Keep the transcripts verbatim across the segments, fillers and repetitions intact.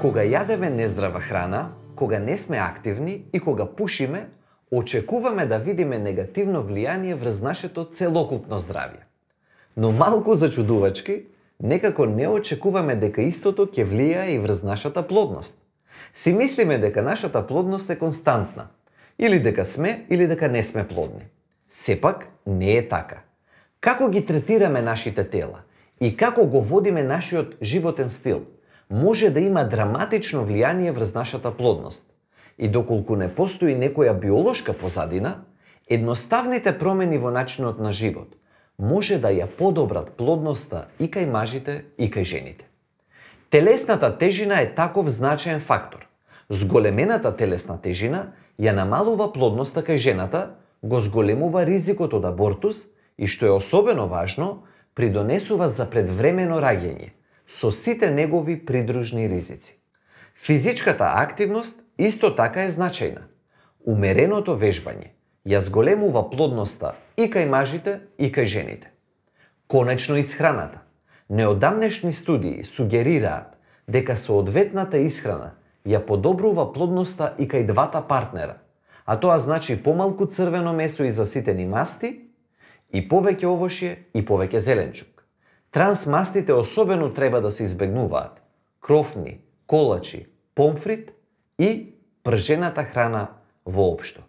Кога јадеме нездрава храна, кога не сме активни и кога пушиме, очекуваме да видиме негативно влијание врз нашето целокупно здравје. Но малку зачудувачки, некако не очекуваме дека истото ќе влијае и врз нашата плодност. Си мислиме дека нашата плодност е константна, или дека сме, или дека не сме плодни. Сепак, не е така. Како ги третираме нашите тела и како го водиме нашиот животен стил, може да има драматично влијание врз нашата плодност. И доколку не постои некоја биолошка позадина, едноставните промени во начинот на живот може да ја подобрат плодноста и кај мажите и кај жените. Телесната тежина е таков значаен фактор. Зголемената телесна тежина ја намалува плодноста кај жената, го зголемува ризикот од абортус и, што е особено важно, придонесува за предвремено раѓање, со сите негови придружни ризици. Физичката активност исто така е значајна. Умереното вежбање ја зголемува плодноста и кај мажите и кај жените. Конечно исхраната. Неодамнешни студии сугерираат дека соодветната исхрана ја подобрува плодноста и кај двата партнера, а тоа значи помалку црвено месо и заситени масти и повеќе овошје и повеќе зеленчук. Трансмастите особено треба да се избегнуваат. Крофни, колачи, помфрит и пржената храна воопшто.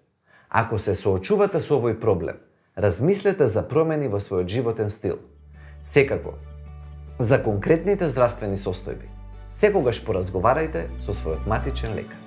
Ако се соочувате со овој проблем, размислете за промени во својот животен стил. Секако, за конкретните здравствени состојби, секогаш поразговарајте со својот матичен лекар.